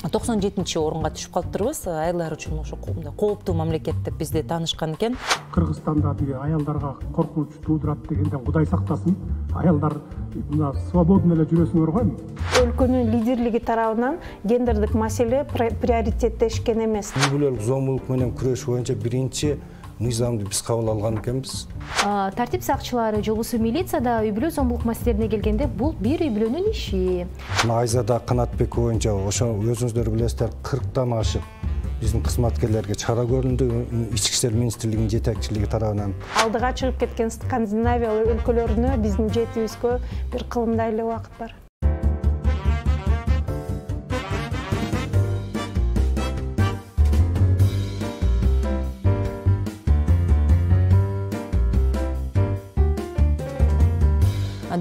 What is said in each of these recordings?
97-орунга түшүп калыптырбыз. Айылдар үчүн ошо кооптуу мамлекет деп бизди таанышкан экен. Кыргызстанда аялдарга коркунуч туудурат дегенден Кудай сактасын. Аялдар мына свободно эле жүрөсүңөр го эми. Өлкөнүн лидерлиги тарабынан гендердик маселе приоритеттешкен эмес. Үй-бүлөлүк зомбулук менен күрөш боюнча биринчи мыйзамды биз кабыл алган экенбиз. Тартип сакчылары, жогусу милицияда үй-бүлө зомбулук маселелерине келгенде бул бир үй-бүлөнүн иши. Айзада Канатбек боюнча ошо өзүңүздөр билесиздер 40тан ашык биздин кызматкерлерге чара көрүндү Ички иштер министрлигинин жетекчилиги тарабынан. Алдыга чыгып кеткен Скандинавия өлкөлөрүнө биздин жетибизгө бир кылымдай эле убакыт бар.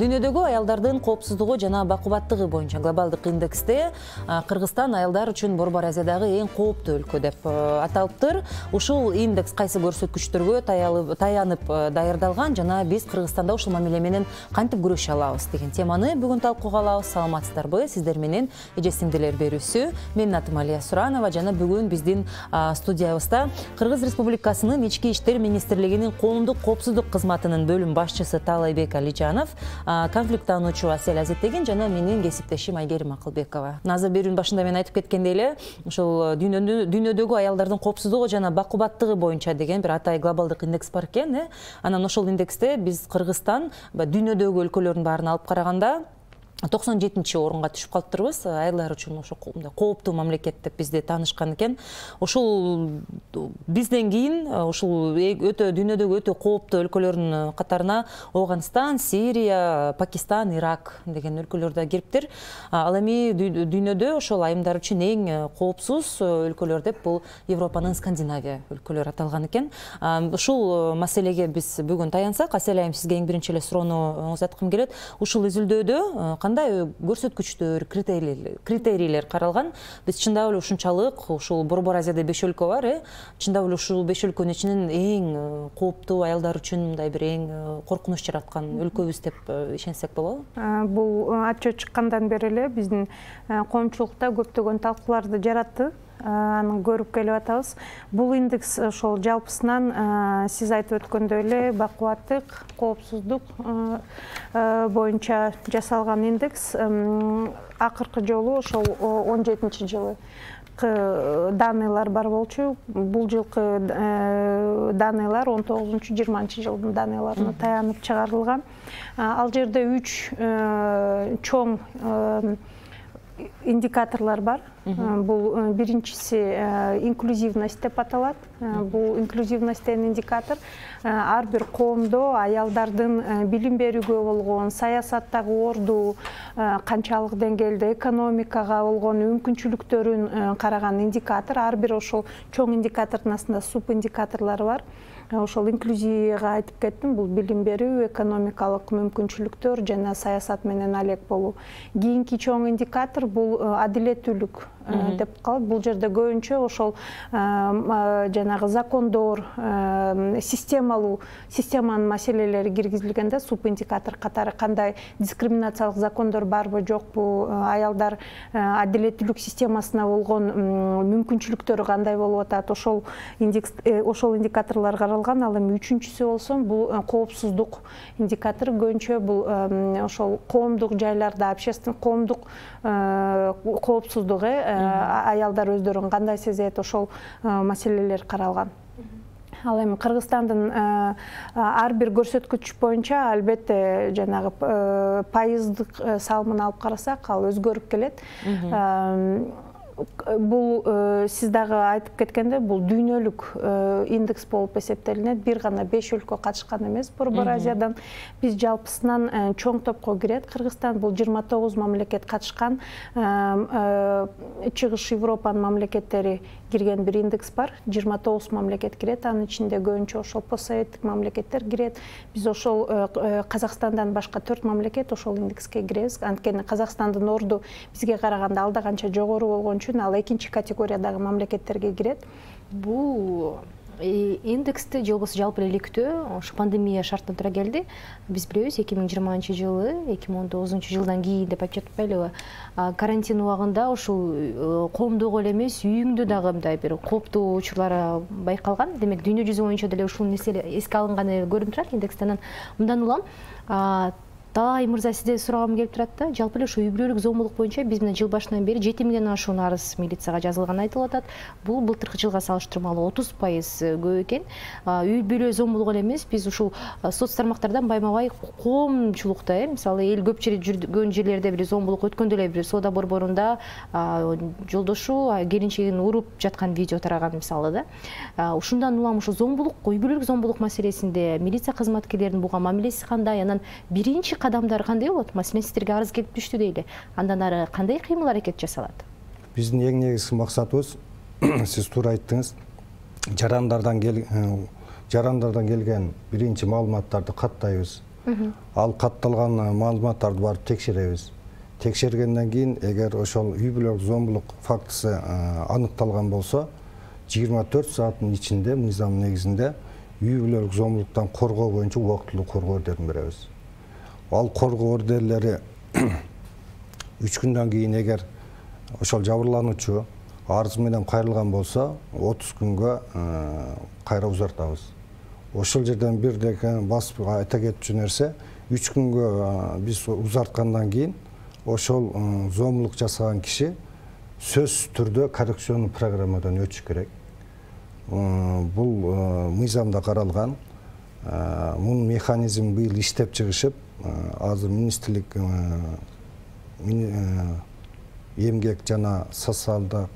Дүйнөдөгү аялдардын коопсуздугу жана бакубаттыгы боюнча глобалдык индексте Кыргызстан аялдар үчүн Борбор Азиядагы эң кооптуу өлкө деп аталыптыр. Ушул индекс кайсы көрсөткүчтөргө таянып даярдалган жана биз Кыргызстанда ушул мамиле менен кантип күрөшө алабыз деген теманы бүгүн талкууга алабыз. Саламатсыздарбы? Сиздер менен эже сиңдилер берүүсү. Менин атым Алия Суранова жана бүгүн биздин студиябызда Кыргыз Республикасынын Ички иштер министрлигинин коомдук коопсуздук кызматынын бөлүм башчысы Таалайбек Алижанов, конфликттануучу Асель Азеттеген жана менин кесиптешим Айгерим Акылбекова. Азыр берүүнүн башында мен айтып кеткендей эле, ушул дүйнөдөгү аялдардын коопсуздугу жана бакубаттыгы боюнча деген бир атай глобалдык индекс бар экен. Анан ошол индексте биз Кыргызстан дүйнөдөгү өлкөлөрдүн баарын алып караганда 97-орунга түшүп калыптырбыз. Айылдар үчүн ошо кооптуу мамлекет деп бизди таанышкан экен. Ушул бизден кийин ушул дүйнөдөгү өтө кооптуу өлкөлөрдүн катарына Афганистан, Сирия, Пакистан, Ирак деген өлкөлөр да кириптир. Ал эми дүйнөдө ошол айымдар үчүн эң коопсуз өлкөлөр деп бул Европанын Скандинавия өлкөлөрү аталган экен. Ушул маселеге биз бүгүн таянсак, Асель айым, сизге эң биринчи эле суроону узаткым келет. Ушул изилдөөдө кандай көрсөткүчтөр, критерийлер каралган? Биз чындап эле ушунчалык ушул Борбор Азияда 5 өлкө бар, чындап эле ушул 5 өлкөнүн ичинен эң кооптуу аялдар үчүн мындай бир эң коркунуч жараткан өлкөбүз деп ишенсек болобу? Бул отчет чыккандан бери эле биздин коомчулукта көптөгөн талкууларды жаратты. Аны көрүп келип атабыз. Бул индекс ошол жалпысынан сиз айтып өткөндөй эле бакубаттык, коопсуздук боюнча жасалган индекс. Акыркы жолу ошол 17-жылы данныйлар бар болчу. Бул жылкы данныйлар 19-20 жылдын данныйларына таянып чыгарылган. Ал жерде 3 чоң индикаторлар бар. Бул биринчиси инклюзивность деп аталат. Бул инклюзивность деген индикатор ар бир коомдо аялдардын билим берүүгө болгон, саясаттагы орду, канчалык деңгээлде экономикага болгон мүмкүнчүлүктөрүн караган индикатор. Ар бир ошол чоң индикатордун астында суп индикаторлор бар. Ошол инклюзияга айтып кеттим, бул билим берүү, экономикалык мүмкүнчүлүктөр жана саясат менен алек болуу. Кийинки чоң индикатор бул адилеттүүлүк деп калат. Бул жерде көбүнчө ошол жанагы закондор, системанын маселелери киргизилгенде суп индикатор катары кандай дискриминациялык закондор барбы, жокпу, аялдар адилеттүүлүк системасына болгон мүмкүнчүлүктөрү кандай болуп атат, ошол индикаторлор каралган. Ал эми үчүнчүсү болсо бул коопсуздук индикатор. Көбүнчө бул ошол коомдук жайларда общественный коомдук коопсуздугу, аялдар өздөрүн кандай сезет, ошол маселелер каралган. Ал эми Кыргызстандын ар бир көрсөткүч боюнча албетте жанагы пайыздык салымын алып карасак, ал өзгөрүп келет. Бул сиз дагы айтып кеткенде, бул дүйнөлүк индекс болуп эсептелинет. Бир гана 5 өлкө катышкан эмес Борбор Азиядан. Биз жалпысынан чоң топко кирет. Кыргызстан бул 29 мамлекет катышкан. Чыгыш Европанын мамлекеттери кирген бир индекс бар. 29 мамлекет кирет. Анын ичинде көбүнчө ошол постсоветтик мамлекеттер кирет. Биз ошол Казакстандан башка 4 мамлекет ошол индекске киребиз. Анткени Казакстандын орду бизге караганда алда канча жогору болгон үчүн ал экинчи категориядагы мамлекеттерге кирет. Бул индексти же болбосо жалпы эле иликтөө ошо пандемия шартына туура келди. Биз билебиз 2020-жылы 2019-жылдан кийин деп айтып жатпайлыбы, карантин убагында ушул коомдогу эле эмес үйүңдө дагы мындай бир кооптуу учурлар байкалган. Демек дүйнө жүзү боюнча деле ушул нерсе эске алынганы көрүнүп турат индекстен. Мындан улам Талай мырза сизде сурагым келип турат да, жалпы эле ушу үй бүлөлүк зомбулук боюнча биз менен жыл башынан бери 7 миңден ашуун арыз милицияга жазылганы айтылып атат. Бул былтыркы жылга салыштырмалуу 30% көп экен. Үй бүлө зомбулугу эле эмес, биз ушул соц тармактардан байма-бай коомчулукта, мисалы эл көп жүргөн жерлерде бир зомбулук өткөндө эле бир соода борборунда жолдошу келинчегин уруп жаткан видео тараган мисалы да. Ушундан улам ушул зомбулук, үй бүлөлүк зомбулук маселесинде милиция кызматкерлеринин буга мамилеси кандай, анан биринчи кадамдар кандай болот? Маселен, сиздерге арыз келип түштү дейли. Андан ары кандай кыймыл аракет жасалат? Биздин эң негизги максатыбыз, сиз туура айттыңыз, жарандардан келген биринчи маалыматтарды каттайбыз. Ал катталган маалыматтарды барып текшеребиз. Текшергенден кийин, эгер ошол үй бүлөлүк зомбулук фактысы аныкталган болсо, 24 сааттын ичинде мыйзам негизинде үй бүлөлүк зомбулуктан коргоо боюнча убактылуу коргоо ордерин беребиз. Ал коргоо ордерлери 3 күндөн кийин эгер ошол жабырлануучу арыз менен кайрылган болсо, 30 күнгө кайра узартабыз. Ошол жерден бир деке басып айта кетчү нерсе, 3 күнгө биз узарткандан кийин ошол зомбулук жасаган киши сөзсүз түрдө коррекционный программадан өтүш керек. Бул мыйзамда каралган. Мунун механизм быйыл иштеп чыгышып, азыр министрлик эмгек жана социалдык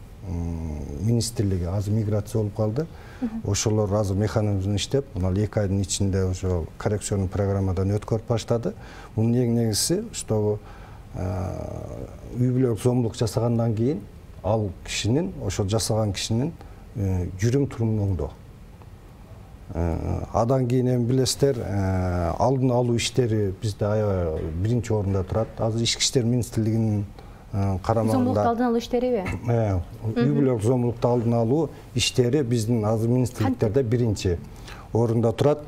министрлиги азыр миграция болуп калды. Ошолор азыр механизм иштеп, мына 2 айдын ичинде ошо коррекционный программадан өткөрүп баштады. Мунун эң негизиси, что үй бүлөлүк зомбулук жасагандан кийин ал кишинин, ошол жасаган кишинин жүрүм турумун оңдоо. Адан кийин эми билесиздер, алдын алуу иштери бизде аябай биринчи орунда турат. Азыр Ички иштер министрлигинин карамагында зомбулукту алдын алуу иштериби? Үй бүлөлүк зомбулукту алдын алуу иштери биздин азыр министрликтерде биринчи орунда турат.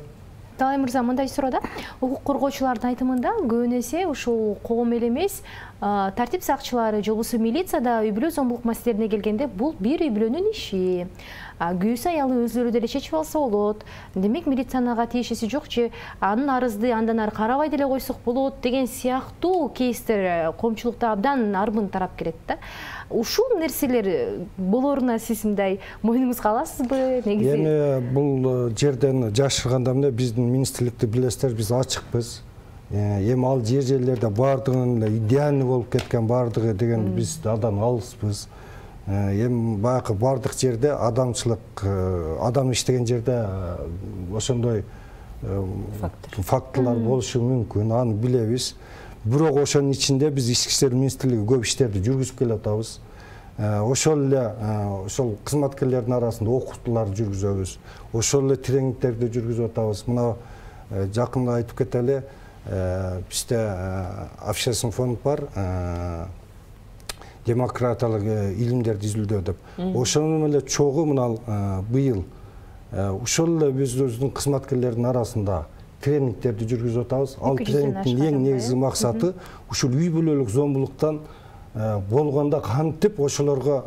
Талай мырза, мындай суроо да. Укук коргоочулардын айтымында көбүн эсе ушул коом эле эмес, тартип сакчылары же болбосо милицияда үй бүлө зомбулук маселелерине келгенде бул бир үй бүлөнүн иши. Күйөөсү аялы өзлөрү деле чечип алса болот. Демек милициянын ага тиешеси жок же анын арызды андан ары карабай деле койсок болот деген сыяктуу кейстер коомчулукта абдан арбын тарап келет да. Ушул нерселер болоруна сиз мындай мойнуңузга аласызбы? Негизи эми бул жерден жашырганда эмне, биздин министрликти билесиздер, биз ачыкпыз. Эми ал жерлерде баардыгынын эле идеальный болуп кеткен баардыгы деген биз адан алыспыз. Эми баягы баардык жерде адамчылык, адам иштеген жерде ошондой фактылар болушу мүмкүн, аны билебиз. Бирок ошонун ичинде биз Ички иштер министрлиги көп иштерди жүргүзүп келатабыз. Ошол эле ошол кызматкерлердин арасында окутуулар жүргүзөбүз. Ошол эле тренингтерди жүргүзүп атабыз. Мына жакында айтып кетели, бизде общественный фонд бар, демократиялык илимдерди изилдөө деп. Ошонун эле чогу мына быйыл ошол эле биздин кызматкерлердин арасында тренингтерди жүргүзүп атабыз. Ал тренингдин эң негизги максаты ушул үй бүлөлүк зомбулуктан болгондо кантип ошолорго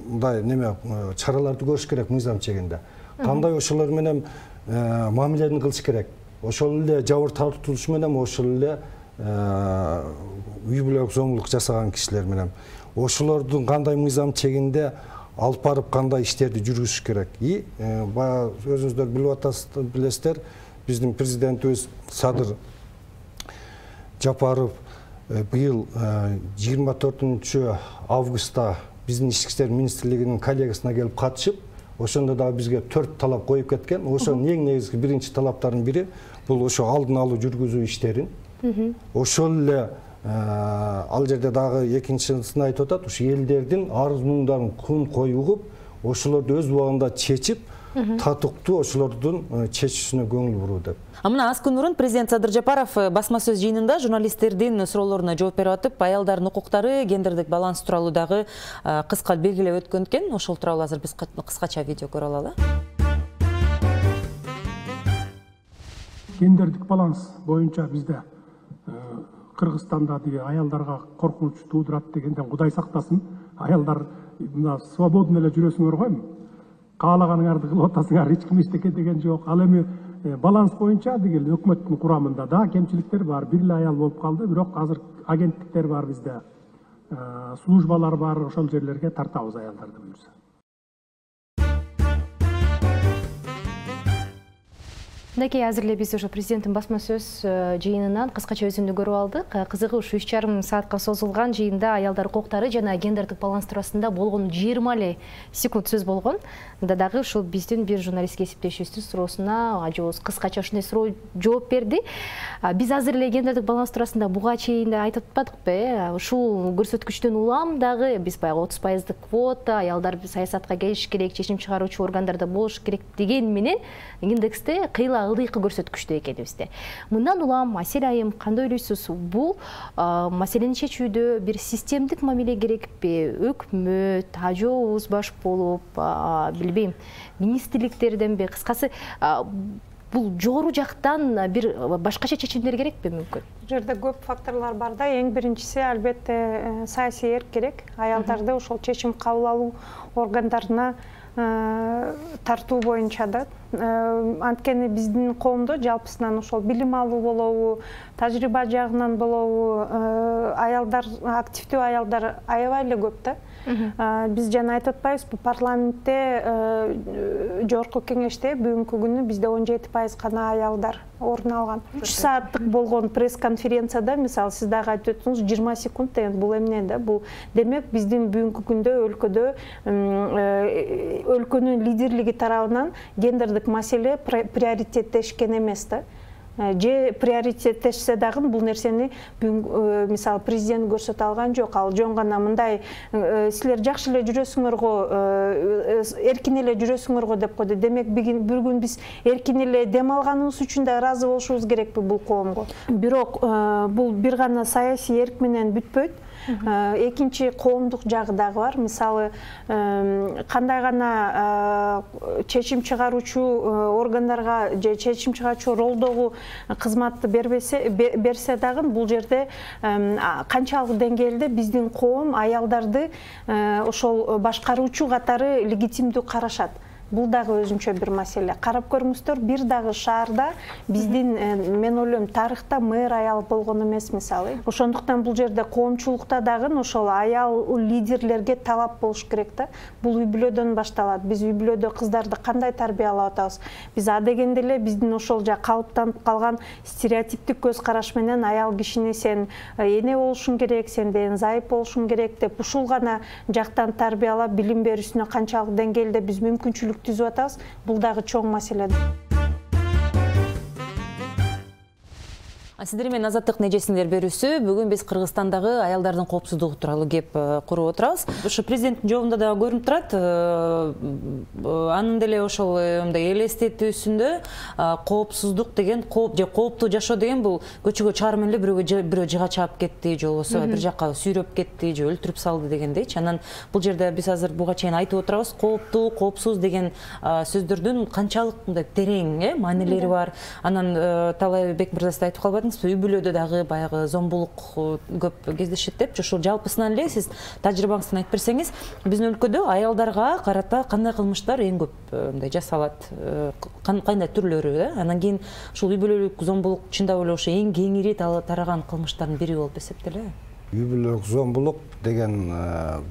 мындай неме чараларды көрүш керек мыйзам чегинде. Кандай ошолор менен мамилени кылыш керек. Ошол эле жабыр тартылыш менен ошол эле үй бүлөлүк зомбулук жасаган кишилер менен ошолордун кандай мыйзам чегинде алып барып кандай иштерди жүргүзүш керек. Баягы өзүңүздөр билип атасыздар, билесиздер, биздин президентибиз Садыр Жапаров быйыл 24 августта биздин Ички иштер министрлигинин коллегиясына келип катышып, ошондо дагы бизге 4 талап коюп кеткен. Ошонун эң негизги биринчи талаптарынын бири бул ошо алдын алуу жүргүзүү иштерин. Ошол эле ал жерде дагы экинчисин айтып атат, ушу элдердин арыз муңдарын күн кою угуп, ошолорду өз убагында чечип, татыктуу ошолордун чечүүсүнө көңүл буруу деп. Мына аз күн мурун президент Садыр Жапаров басма сөз жыйынында журналисттердин суроолоруна жооп берип атып, аялдардын укуктары, гендердик баланс тууралуу дагы кыска белгилеп өткөн экен. Ошол тууралуу азыр биз кыскача видео көрө алалы. гендердик баланс боюнча бизде Кыргызстанда деги аялдарга коркунуч туудурат дегенден Кудай сактасын. Аялдар мына свободно эле жүрөсүңөр го эми. Каалаганыңарды кылып атасыңар, эч ким эчтеке деген жок. Ал эми баланс боюнча деги өкмөттүн курамында да кемчиликтер бар. Бир эле аял болуп калды, бирок азыр агенттиктер бар бизде. Службалар бар, ошол жерлерге тартабыз аялдарды буюрса. Мынакей азыр эле биз ошо президенттин басма сөз жыйынынан кыскача өзүндү көрүп алдык. Кызыгы ушу 3,5 саатка созулган жыйында аялдар укуктары жана гендердик баланс туурасында болгон 20 эле секунд сөз болгон. Мында дагы ушул биздин бир журналистке эсептешибиздин суроосуна ажыбыз кыскача ушундай суроо жооп берди. Биз азыр эле гендердик баланс туурасында буга чейин айтып атпадыкпы? Ушул көрсөткүчтөн улам дагы биз баягы 30% квота, аялдар саясатка келиш керек, чечим чыгаруучу органдарда болуш керек деген менен индексте кыйла ылдыйкы көрсөткүчтө экенибизде. Мындан улам Асель айым кандай ойлойсуз? Бул маселени чечүүдө бир системдик мамиле керекпи? Өкмөт, ажообуз баш болуп, билбейм, министрликтерденби, кыскасы бул жогору жактан бир башкача чечимдер керекпи мүмкүн? Бул жерде көп факторлор бар да. Эң биринчиси албетте саясий эрк керек. Аялдарды ошол чечим кабыл алуу органдарына тартуу боюнча да. Анткени биздин коомдо жалпысынан ошол билим алуу болобу, тажрыйба жагынан болобу, аялдар, активдүү аялдар аябай эле көп да. Биз жана айтып атпайбызбы, парламентте жогорку кеңеште бүгүнкү күнү бизде 17% гана аялдар орун алган. 3 сааттык болгон пресс-конференцияда, мисалы, сиз дагы айтып өттүңүз, 20 секунд деген бул эмне да? Бул демек биздин бүгүнкү күндө өлкөдө өлкөнүн лидерлиги тарабынан гендердик маселе приоритеттешкен эмес да. Же приоритеттешсе дагы бул нерсени мисалы президент көрсөтө алган жок. Ал жөн гана мындай силер жакшы эле жүрөсүңөр го, эркин эле жүрөсүңөр го деп койду. Демек бүгүн биз эркин эле дем алганыбыз үчүн да ыраазы болушубуз керекпи бул коомго. Бирок бул бир гана саясий эрк менен бүтпөйт. Экинчи коомдук жагы дагы бар. Мисалы, кандай гана чечим чыгаруучу органдарга же чечим чыгаруучу ролдогу кызматты берсе дагы бул жерде канчалык деңгээлде биздин коом аялдарды ошол башкаруучу катары легитимдүү карашат. Бул дагы өзүнчө бир маселе. Карап көрүңүздөр, бир дагы шаарда биздин, мен ойлойм, тарыхта мэр аял болгон эмес, мисалы. Ошондуктан бул жерде коомчулукта дагы ошол аял лидерлерге талап болуш керек да. Бул үй бүлөдөн башталат. Биз үй бүлөдө кыздарды кандай тарбиялап атабыз? Биз адегенде эле биздин ошол калыптанып калган стереотиптик көз караш менен аял кишини сен эне болушуң керек, сен деген зайып болушуң керек деп ушул гана жактан тарбиялап, билим берүүсүнө канчалык деңгээлде биз мүмкүнчүлүк түзүп атабыз, бул дагы чоң маселе. Сиздер менен Азаттык нежесиңер берүүсү. Бүгүн биз Кыргызстандагы аялдардын коопсуздугу тууралуу кеп куруп отурабыз. Ошо президенттин жообунда да көрүнүп турат. Анын деле ошол мындай элестетүүсүндө коопсуздук деген, кооптуу жашоо деген бул көчөгө чыгарып эле бирөө жыга чаап кетти, же болбосо бир жакка сүйрөп кетти, же өлтүрүп салды дегендейчи. Анан бул жерде биз азыр буга чейин айтып отурабыз. Кооптуу, коопсуз деген сөздөрдүн канчалык мындай терең маанилери бар. Анан Талайбек мырза сиз айтып калбадыңыз, үй бүлөдө дагы баягы зомбулук көп кездешет деп, ошол жалпысынан эле сиз тажрыйбаңыздан айтып берсеңиз, биздин өлкөдө аялдарга карата кандай кылмыштар эң көп мындай жасалат, кандай түрлөрү да? Анан кийин ушул үй бүлөлүк зомбулук чындап эле ошо эң кеңири тараган кылмыштардын бири болуп эсептелеби? Үй бүлөлүк зомбулук деген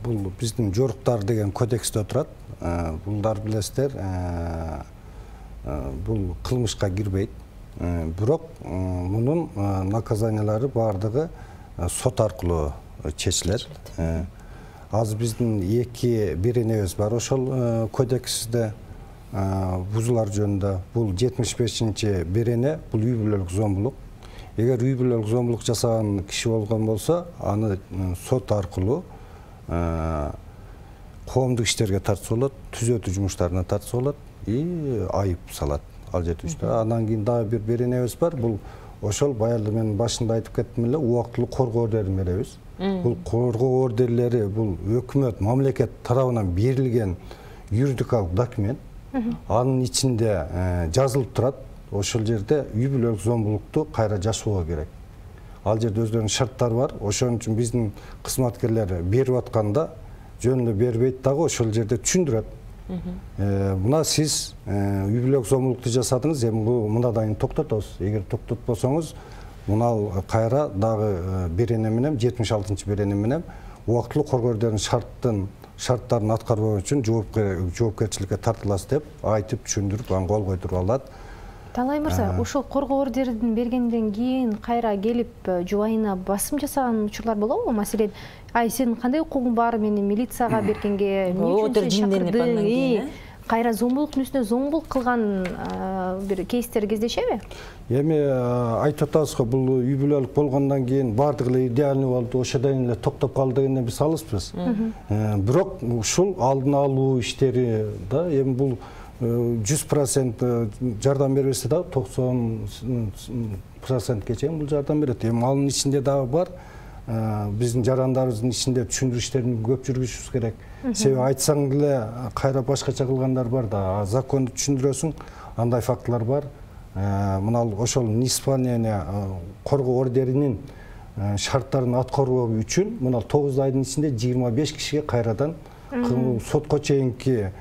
бул биздин жоруктар деген кодексте турат. Булдар билесиздер, бул кылмышка кирбейт. Бирок мунун наказаниялары бардыгы сот аркылуу чечилет. Азыр биздин бир энебиз бар ошол кодексте бузулар жөнүндө. Бул 75-чи берене, бул үй бүлөлүк зомбулук. Эгер үй бүлөлүк зомбулук жасаган киши болгон болсо, аны сот аркылуу коомдук иштерге тартса болот, түзөтүү жумуштарына тартса болот и айып салат. Ал жетүүчү. Андан кийин дагы бир беренебиз бар. Бул ошол баягы мен башында айтып кеттим эле, убактылуу коргоо ордерин беребиз. Бул коргоо ордерлери бул өкмөт, мамлекет тарабынан берилген юридикалык документ. Анын ичинде жазылып турат. ошол жерде үй бүлөлүк зомбулукту кайра жашоого керек. Ал жерде өздөрүнүн шарттары бар. Ошон үчүн биздин кызматкерлер берип атканда жөн эле бербейт дагы, ошол жерде түшүндүрөт. Мына сиз үй бүлөлүк зомбулукту жасадыңыз, эми мындан токтотобуз. Эгер токтотпосоңуз, мына кайра дагы берене менен 76-берене менен убактылуу коргоодордун шарттарын аткарбоо үчүн жоопкерчиликке тартыласыз деп айтып түшүндүрүп, аны кол койдуруп алат. Талай мырза, ошол коргоо ордерин бергенден кийин кайра келип жубайына басым жасаган учурлар болобу? Маселен, сенин кандай укугуң бар, мени милицияга бергенге, эмне үчүн сен чакырдың? Кайра зомбулуктун үстүнө зомбулук кылган бир кейстер кездешеби? Эми айтып атабыз го, бул үй бүлөлүк болгондон кийин баардыгы эле идеальный болду, ошодон эле токтоп калды дегенден биз алыспыз. Бирок ушул алдын алуу иштери да, эми бул 100% жардам бербесе да 90%ке чейин бул жардам берет. Эми анын ичинде дагы бар, биздин жарандарыбыздын ичинде түшүндүрүү иштерин көп жүргүзүшүбүз керек. Себеби айтсаң деле кайра башкача кылгандар бар да, законду түшүндүрөсүң, андай фактылар бар. Мына ошол неисполнение коргоо ордеринин шарттарын аткаруу үчүн мына 9 айдын ичинде 25 кишиге кайрадан сотко чейинки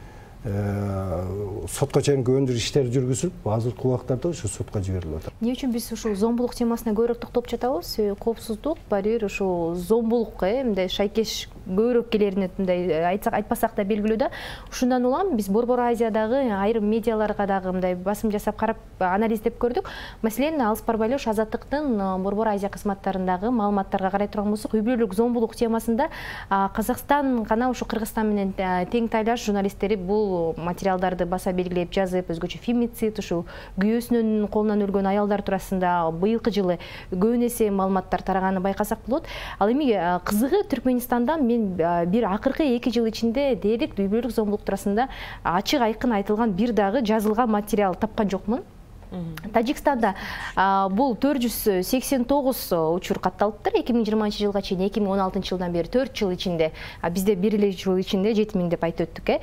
өндүрүү иштери жүргүзүлүп, азыркы убактарда ушу сотко жиберилип атат. Эмне үчүн биз ушул зомбулук темасына көбүрөөк токтолуп жатабыз? Коопсуздук барьер, ушул зомбулукка мындай шайкеш көбүрөөк келерин мындай айтпасак да белгилүү да. Ушундан улам биз Борбор Азиядагы айрым медиаларга дагы мындай басым жасап карап анализдеп көрдүк. Маселен, Алыс барбай эле ушу Азаттыктын Борбор Азия кызматтарындагы маалыматтарга карай турган болсок, үй бүлөлүк зомбулук темасында Казакстан гана ушу Кыргызстан менен тең тайлаш журналисттери бул материалдарды баса белгилеп жазып, өзгөчө фемицид, ушу күйөөсүнүн колунан өлгөн аялдар туурасында быйылкы жылы көбүн эсе маалыматтар тараганы байкасак болот. Ал эми кызыгы Түркмөнстанда мен бир акыркы 2 жыл ичинде дээрлик үй бүлөлүк зомбулук туурасында ачык айкын айтылган бир дагы жазылган материал тапкан жокмун. Тажикстанда бул 489 учур катталыптыр 2020 жылга чейин, 2016 жылдан бери 4 жыл ичинде, бизде 1 жыл ичинде 7000 деп айтып өттүк.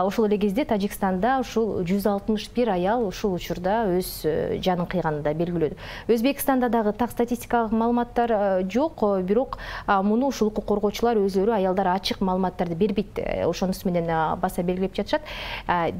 Ошол эле кезде Тажикстанда ушул 161 аял ушул учурда өз жанын кыйганы да белгилөөдө. Өзбекстанда дагы так статистикалык маалыматтар жок, бирок муну ушул укук коргоочулар өзлөрү аялдар ачык маалыматтарды бербейт, ошонусу менен баса белгилеп жатышат.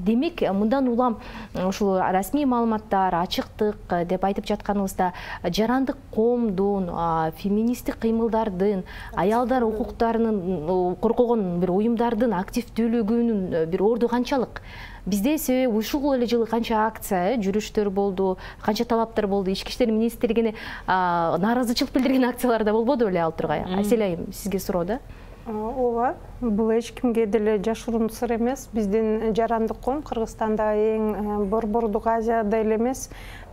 Демек, мындан улам ушул расмий ачыктык деп айтып жатканыбызда жарандык коомдун, феминисттик кыймылдардын, аялдар укуктарынын коргогон бир уюмдардын активдүүлүгүнүн бир орду канчалык? Бизде себеби ушул эле жылы канча акция, жүрүштөр болду, канча талаптар болду, ички иштер министрлигине нааразычылык билдирген акциялар да болбоду беле ал тургай? Асель айым, сизге суроо да. Ооба, бул эч кимге деле жашыруун сыр эмес. Биздин жарандык коом Кыргызстанда эң Борбордук Азияда эле эмес,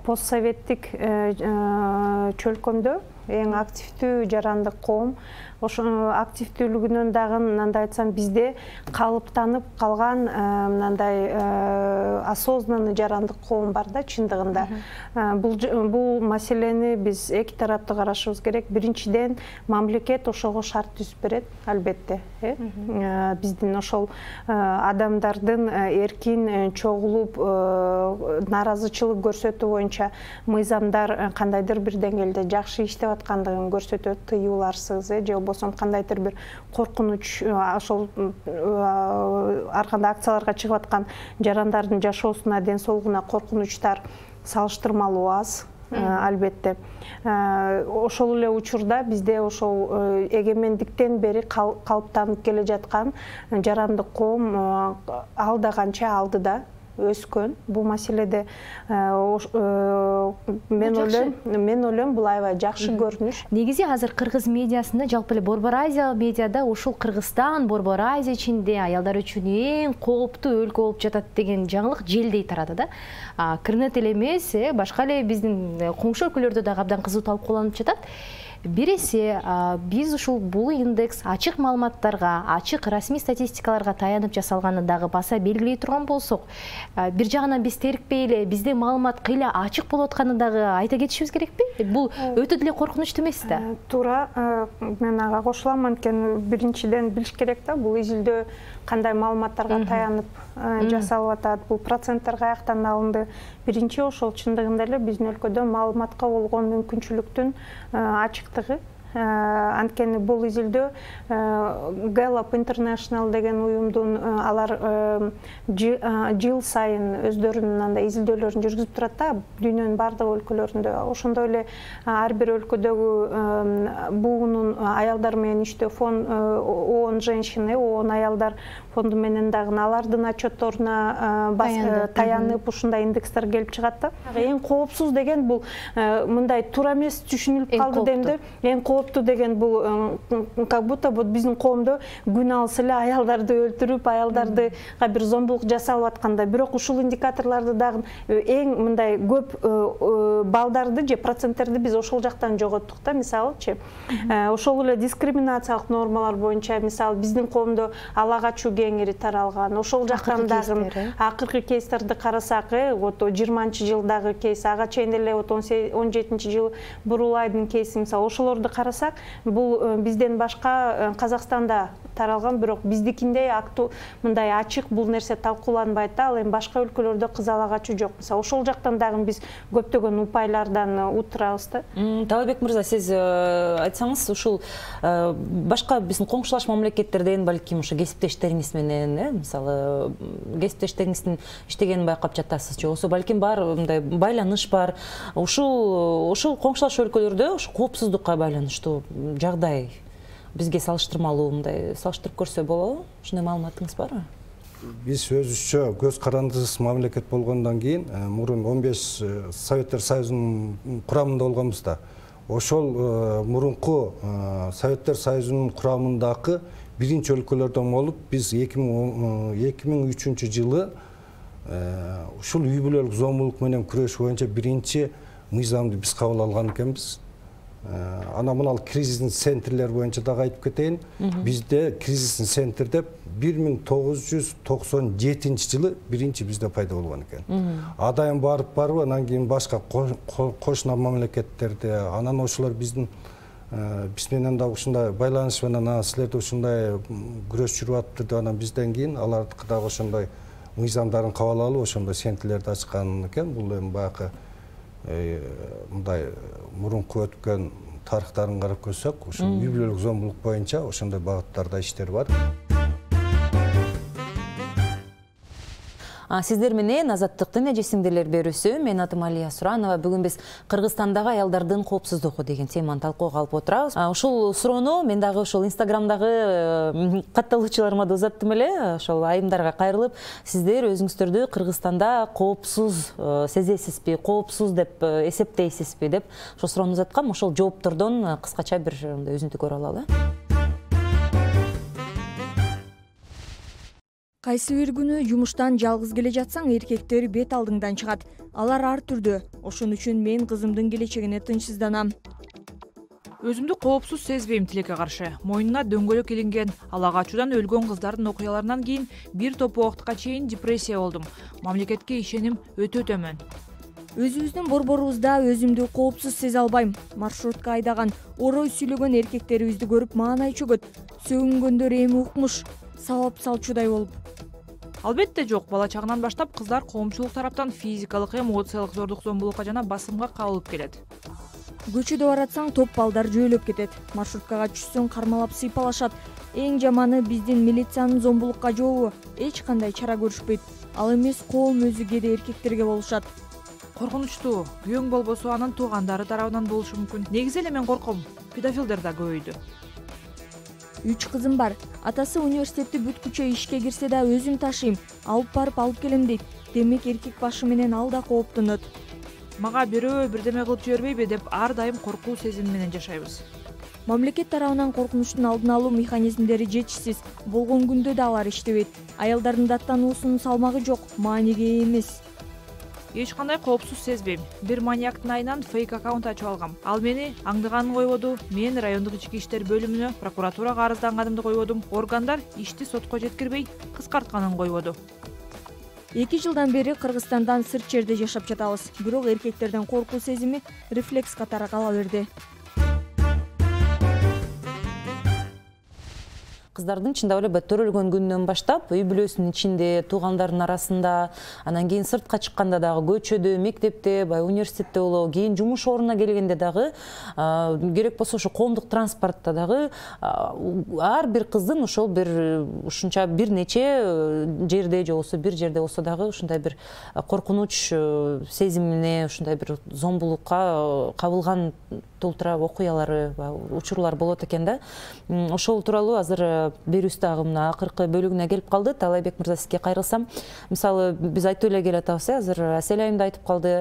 постсоветтик чөлкөмдө эң активдүү жарандык коом. Ошо активдүүлүгүнөн дагы мындай айтсам, бизде калыптанып калган мындай осознанный жарандык коом бар да чындыгында. Бул маселени биз эки тараптуу карашыбыз керек. Биринчиден, мамлекет ошого шарт түзүп берет, албетте. Биздин ошол адамдардын эркин чогулуп нааразычылык көрсөтүү боюнча мыйзамдар кандайдыр бир деңгээлде жакшы иштеп аткандыгын көрсөтөт, тыюуларсыз же болбосо кандайдыр бир коркунуч, ошол ар кандай акцияларга чыгып аткан жарандардын жашоосуна, ден соолугуна коркунучтар салыштырмалуу аз, албетте. Ошол эле учурда бизде ошол эгемендиктен бери калыптанып келе жаткан жарандык коом алда канча алдыда өскөн. Бул маселеде мен ойлойм бул аябай жакшы көрүнүш. Негизи азыр кыргыз медиасында, жалпы эле Борбор Азия медиада ушул Кыргызстан Борбор Азия ичинде аялдар үчүн эң кооптуу өлкө болуп жатат деген жаңылык желдей тарады да. Кырнет эле эмес, башка эле биздин коңшу өлкөлөрдө дагы абдан кызуу талкууланып жатат. бир эсе биз ушул бул индекс ачык маалыматтарга, ачык расмий статистикаларга таянып жасалганын дагы баса белгилей турган болсок, бир жагынан биз терикпей эле бизде маалымат кыйла ачык болуп атканын дагы айта кетишибиз керекпи? Бул өтө деле коркунучтуу эмес да. Туура, мен ага кошулам. Анткени биринчиден билиш керек да, бул изилдөө кандай маалыматтарга таянып жасалып атат, бул проценттер каяктан алынды. Биринчи ошол чындыгында эле биздин өлкөдө маалыматка болгон мүмкүнчүлүктүн ачыктыгы. Анткени бул изилдөө Gallup International деген уюмдун алар жыл сайын өздөрүнүн андай изилдөөлөрүн жүргүзүп турат да, дүйнөнүн бардык өлкөлөрүндө. Ошондой эле ар бир өлкөдөгү буунун аялдар менен иштөө фонд, ООН женщины, ООН аялдар фонду менен дагы алардын отчетторуна таянып ушундай индекстер келип чыгат да. Эң коопсуз деген бул мындай туура эмес түшүнүлүп калды дейм да. Эң кооптуу деген бул как будто вот биздин коомдо күн алыс эле аялдарды өлтүрүп, аялдардыга бир зомбулук жасалып аткандай. Бирок ушул индикаторлорду дагы эң мындай көп балдарды же проценттерди биз ошол жактан жоготтук да. Мисалычы, ошол эле дискриминациялык нормалар боюнча, мисалы биздин коомдо ала качуу кеңири таралган. Ошол жактан дагы акыркы кейстерди карасак, вот 20-жылдагы кейс, ага чейин эле 17-жыл Бурулайдын кейси, мисалы ошолорду карасак, бул бизден башка Казакстанда таралган, бирок биздикиндей мындай ачык бул нерсе талкууланбайт да. Ал эми башка өлкөлөрдө кыз ала качуу жок. Мисалы ошол жактан дагы биз көптөгөн упайлардан утурабыз да. Талабек мырза, сиз айтсаңыз, ушул башка биздин коңшулаш мамлекеттерден балким ушу кесиптештериңиз менен, мисалы кесиптештериңиздин иштегенин байкап жатасыз же, болсо балким бар мындай байланыш бар. Ушул коңшулаш өлкөлөрдө ушу коопсуздукка байланыштуу жагдай бизге салыштырмалуу мындай салыштырып көрсө болобу? Ушундай маалыматыңыз барбы? Биз өзүбүзчө көз карандысыз мамлекет болгондон кийин мурун 15 Советтер Союзунун курамында болгонбуз да. Ошол мурунку Советтер Союзунун курамындагы биринчи өлкөлөрдөн болуп, биз 2003 жылы ушул үй бүлөлүк зомбулук менен күрөш боюнча биринчи мыйзамды биз кабыл алган экенбиз. Ана мынал кризисный центрлер боюнча дагы айтып кетейин. Бизде кризисный центр деп 1997 жылы биринчи бизде пайда болгон экен. Адайым барып, анан кийин башка кошуна мамлекеттерде, анан ошолор биз менен дагы ушундай байланыш менен силерде ушундай күрөш жүрүп атты деп, анан бизден кийин алардыкы дагы ошондой мыйзамдарын кабыл алып, ошондой центрлерди ачкан экен. Бул эми баягы мындай мурунку өткөн тарыхтарын карап көрсөк, ушул үй бүлөлүк зомбулук боюнча ошондой багыттарда иштер бар. Сиздер менен Азаттыктын эжесиңдерлер берүүсү. Мен атым Алия Суранова. Бүгүн биз Кыргызстандагы аялдардын коопсуздугу деген теманы талкууга алып отурабыз. Ушул суроону мен дагы ошол Инстаграмдагы катталуучуларыма да узаттым эле. Ошол айымдарга кайрылып, сиздер өзүңүздөрдү Кыргызстанда коопсуз сезесизби, коопсуз деп эсептейсизби деп ошол суроону узаткам. Ошол жооптордон кыскача бир өзүнтү көрө алалы. Кайсы бир күнү жумуштан жалгыз келе жатсаң, эркектер бет алдыңдан чыгат. Алар ар түрдүү. Ошон үчүн мен кызымдын келечегине тынчсызданам. Өзүмдү коопсуз сезбейм тилекке каршы. Мойнуна дөңгөлөк илинген, ала качуудан өлгөн кыздардын окуяларынан кийин бир топ убакытка чейин депрессия болдум. Мамлекетке ишеним өтө төмөн. Өзүбүздүн борборубузда өзүмдү коопсуз сезе албайм. Маршрутка айдаган, орой сүйлөгөн эркектерибизди көрүп маанай чөгөт. Сөгүнгөндөр эми укмуш, сабап салчудай болуп. Албетте жок. Бала чагынан баштап кыздар коомчулук тараптан физикалык, эмоциялык зордук, зомбулукка жана басымга кабылып келет. Көчөдө баратсаң, топ балдар жөөлөп кетет. Маршруткага түшсөң, кармалап сыйпалашат. Эң жаманы биздин милициянын зомбулукка жообу. Эч кандай чара көрүшпөйт. Ал эмес, коом өзү кээде эркектерге болушат. Коркунучтуу. Күйөөң болбосо анын туугандары тарабынан болушу мүмкүн. Негизи эле мен корком. Педофилдер да көбөйдү. 3 кызым бар. Атасы университетти бүткүчө ишке кирсе да өзүм ташыйм. Алып барып алып келем дейт. Демек эркек башы менен ал да кооптонот. Мага бирөө бирдеме кылып жибербейби деп ар дайым коркуу сезими менен жашайбыз. Мамлекет тарабынан коркунучтун алдын алуу механизмдери жетишсиз. Болгон күндө да алар иштебейт. Аялдардын даттануусунун салмагы жок, мааниге эмес. эч кандай коопсуз сезбейм. Бир маньяктын айынан фейк аккаунт ачып алгам. Ал мени аңдыганын койбоду. Мен райондук ички иштер бөлүмүнө прокуратурага арызданганымды койбодум. Органдар ишти сотко жеткирбей кыскартканын койбоду. 2 жылдан бери Кыргызстандан сырт жерде жашап жатабыз. Бирок эркектерден коркуу сезими рефлекс катары кала берди. Кыздардын чындап эле бөттөрөлгөн күнүнөн баштап үй бүлөсүнүн ичинде, туугандардын арасында, анан кийин сыртка чыкканда дагы, көчөдө, мектепте, баягы университетте болобу, кийин жумуш ордуна келгенде дагы, керек болсо ошо коомдук транспортто дагы ар бир кыздын ошол бир ушунча бир нече жерде же болбосо бир жерде болсо дагы ушундай бир коркунуч сезимине, ушундай бир зомбулукка кабылган толтура окуялары, учурлар болот экен да. Ошол тууралуу азыр берүүбүз дагы мына акыркы бөлүгүнө келип калды. Талайбек мырза, сизге кайрылсам, мисалы биз айтып эле келатабыз, азыр Асель айым да айтып калды.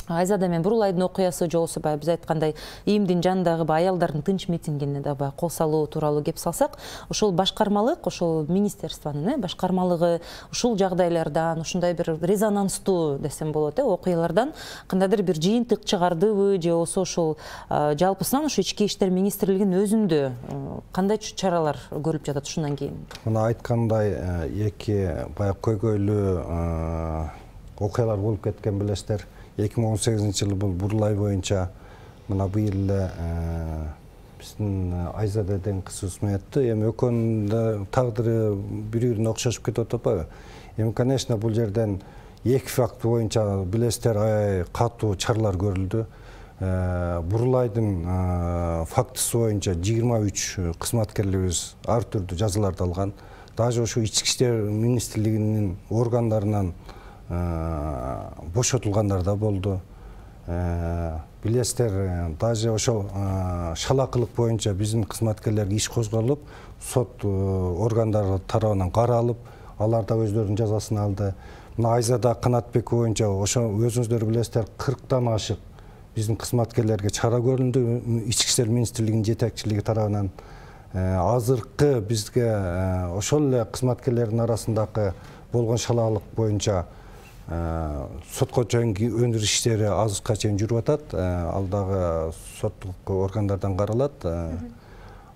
Айзада мен Бурулайдын окуясы же болбосо биз айткандай ИИМдин жанындагы аялдардын тынч митингине да кол салуу тууралуу кеп салсак, ошол башкармалык, ошол министерствонун башкармалыгы ушул жагдайлардан, ушундай бир резонанстуу десем болот, окуялардан кандайдыр бир жыйынтык чыгардыбы же болбосо ошол жалпысынан ошо ички иштер министрлигинин өзүндө кандай чаралар көрүлүп жатат ушундан кийин? Мына айткандай эки баягы көйгөйлүү окуялар болуп кеткен билесиздер. 2018-жылы бул Бурулай боюнча мына быйыл эле биздин Айзада деген кыз усмун этти. Эми экөөнүн да тагдыры бири-бирине окшошуп кетип атпайбы? Эми, конечно, бул жерден эки факт боюнча билесиздер аябай катуу чаралар көрүлдү. Бурулайдын фактысы боюнча 23 кызматкерлерибиз ар түрдүү жазаларды алган. Даже ошо ички иштер министрлигинин органдарынан бошотулгандар да болду. Билесиздер, даже ошол шалакылык боюнча биздин кызматкерлерге иш козголуп, сот органдары тарабынан каралып, алар да өздөрүнүн жазасын алды. Мына Айзада Канатбекова боюнча ошо өзүңүздөр билесиздер 40тан ашык биздин кызматкерлерге чара көрүлдү ички иштер министрлигинин жетекчилиги тарабынан. Азыркы бизге ошол эле кызматкерлердин арасындагы болгон шалаалык боюнча сотко чейинки өндүрүш иштери азыркыга чейин жүрүп атат. Ал дагы соттук органдардан каралат.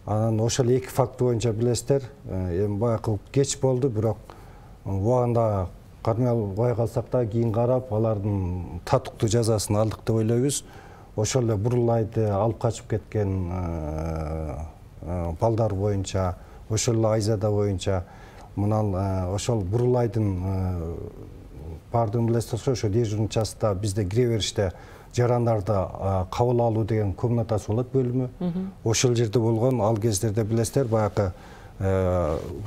Анан ошол эки факт боюнча билесиздер, эми баягы кеч болду, бирок убагында кармай албай калсак да кийин карап алардын татыктуу жазасын алдык деп ойлойбуз. Ошол эле Бурулайды алып качып кеткен балдар боюнча, ошол эле Айзада боюнча, мына ошол Бурулайдын бардыгын билесиз, ошо дежурный частта бизде кире бериште жарандарды кабыл алуу деген комнатасы болот, бөлүмү. Ошол жерде болгон, ал кездерде билесиздер, баягы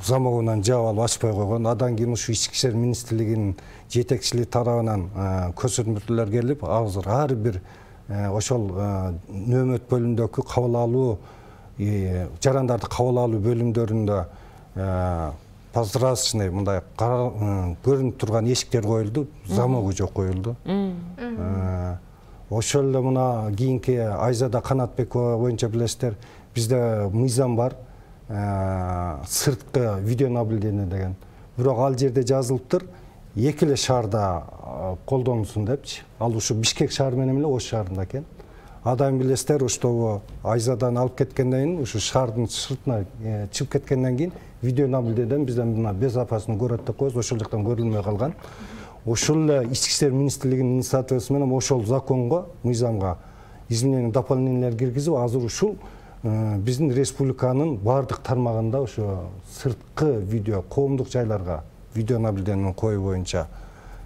замогунан жаап алып ачпай койгон. Андан кийин ушу ички иштер министрлигинин жетекчилиги тарабынан көрсөтмөлөр келип, азыр ар бир ошол нөөмөт бөлүмүндөгү кабыл алуу, жарандарды кабыл алуу бөлүмдөрүндө прозрачный мындай көрүнүп турган эшиктер коюлду, замогу жок коюлду. Ошол эле мына кийинки Айзада Канатбекова боюнча билесиздер, бизде мыйзам бар, сырткы видеонаблюдение деген. Бирок ал жерде жазылыптыр, эки эле шаарда колдонулсун депчи. Ал ушу Бишкек шаары менен эле Ош шаарында экен. Адам билесиздер, ошто Айзадан алып кеткенден кийин, ушу шаардын сыртына чыгып кеткенден кийин видеонаблюдениеден бизден мына безопасный город деп коебуз, ошол жактан көрүлмөй калган. Ошол эле ички иштер министрлигинин инициативасы менен ошол законго, мыйзамга изменение дополнениялар киргизип, азыр ушул биздин республиканын баардык тармагында ошо сырткы видео, коомдук жайларга видеонаблюдение коюу боюнча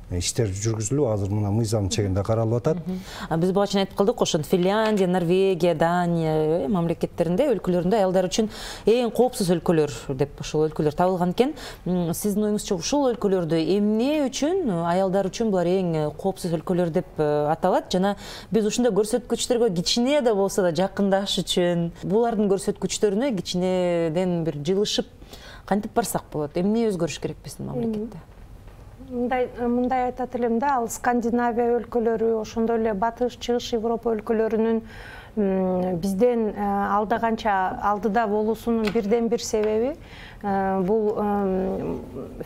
иштер жүргүзүлүп, азыр мына мыйзам чегинде каралып атат. Биз буга чейин айтып калдык, ошо Финляндия, Норвегия, Дания мамлекеттеринде, өлкөлөрүндө аялдар үчүн эң коопсуз өлкөлөр деп ошол өлкөлөр табылган экен. Сиздин оюңузча ушул өлкөлөрдө эмне үчүн аялдар үчүн булар эң коопсуз өлкөлөр деп аталат? Жана биз ушундай көрсөткүчтөргө кичине да болсо да жакындаш үчүн булардын көрсөткүчтөрүнө кичинеден бир жылышып кантип барсак болот? Эмне өзгөрүш керек биздин мамлекетте? мындай айтат элем да, ал Скандинавия өлкөлөрү, ошондой эле батыш чыгыш Европа өлкөлөрүнүн бизден алдыда болуусунун бирден бир себеби бул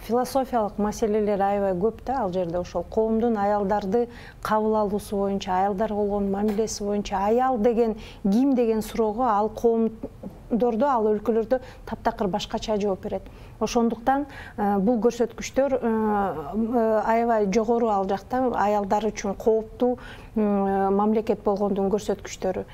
философиялык маселелер аябай көп да ал жерде. Ошол коомдун аялдарды кабыл алуусу боюнча, аялдарга болгон мамилеси боюнча, аял деген ким деген суроого ал коомдордо, ал өлкөлөрдө таптакыр башкача жооп берет. Ошондуктан бул көрсөткүчтөр аябай жогору ал жакта, аялдар үчүн кооптуу мамлекет болгондун көрсөткүчтөрү.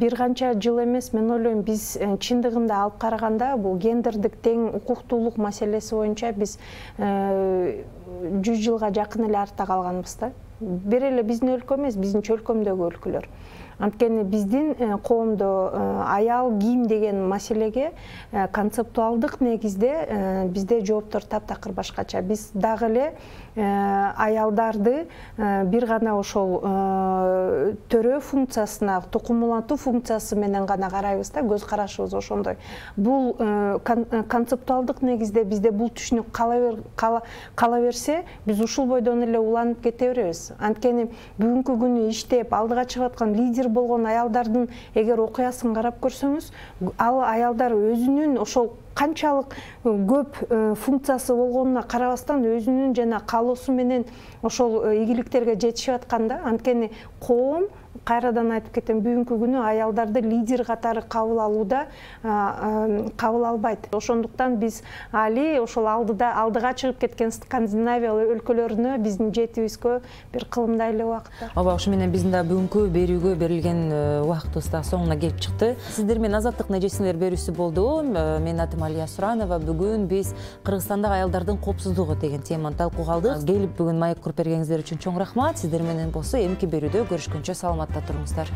Бир канча жыл эмес, мен ойлойм, биз чындыгында алып караганда бул гендердик тең укуктуулук маселеси боюнча биз 100 жылга жакын эле артта калганбыз да. Бир эле биздин өлкө эмес, биздин чөлкөмдөгү өлкөлөр. Анткени биздин коомдо аял ким деген маселеге концептуалдык негизде бизде жооптор таптакыр башкача. Биз дагы эле аялдарды бир гана ошол төрөө функциясына, тукум улантуу функциясы менен гана карайбыз да, көз карашыбыз ошондой. Бул концептуалдык негизде бизде бул түшүнүк кала берсе, биз ушул бойдон эле уланып кете беребиз. Анткени бүгүнкү күнү иштеп, алдыга чыгып аткан лидер болгон аялдардын эгер окуясын карап көрсөңүз, ал аялдар өзүнүн ошол канчалык көп функциясы болгонуна карабастан өзүнүн жана каалоосу менен ошол ийгиликтерге жетишип аткан да. Анткени коом, кайрадан айтып кетем, бүгүнкү күнү аялдарды лидер катары кабыл алууда кабыл албайт. Ошондуктан биз али ошол алдыга чыгып кеткен Скандинавия өлкөлөрүнө биздин жетүүбүзгө бир кылымдай эле убакыт бар. Ооба, ошо менен биздин да бүгүнкү берүүгө берилген убактыбыз да соңуна келип чыкты. Сиздер менен Азаттык нежесиңер берүүсү болду. Менин атым Алия Суранова. Бүгүн биз Кыргызстандагы аялдардын коопсуздугу деген теманы талкууга алдык. Келип бүгүн маек куруп бергениңиздер үчүн чоң рахмат. Сиздер менен болсо эмки берүүдө көрүшкөнчө саламатта туруңуздар.